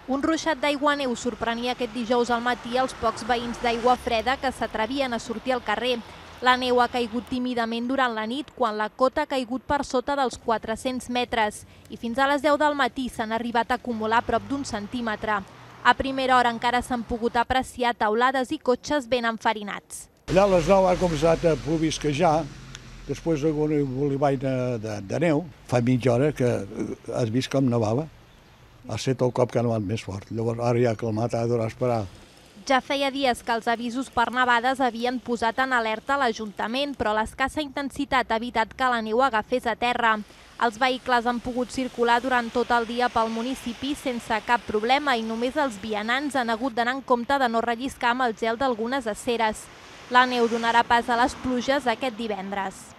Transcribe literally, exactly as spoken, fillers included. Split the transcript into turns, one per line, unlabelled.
Un ruixat d'aigua-neu sorprenia aquest dijous al matí els pocs veïns d'Aigua Freda que s'atrevien a sortir al carrer. La neu ha caigut tímidament durant la nit, quan la cota ha caigut per sota dels quatre-cents metres i fins a les deu del matí s'han arribat a acumular prop d'un centímetre. A primera hora encara s'han pogut apreciar teulades i cotxes ben enfarinats.
Allà a les nou ha començat a plovisquejar, després d'un bolivall de, de, de neu. Fa mitja hora que has vist com nevava. Ha estat el cop que ha nevat més fort. Llavors ara ja ha calmat, ha d'haver esperar.
Ja feia dies que els avisos per nevades havien posat en alerta l'Ajuntament, però l'escassa intensitat ha evitat que la neu agafés a terra. Els vehicles han pogut circular durant tot el dia pel municipi sense cap problema i només els vianants han hagut d'anar en compte de no relliscar amb el gel d'algunes aceres. La neu donarà pas a les pluges aquest divendres.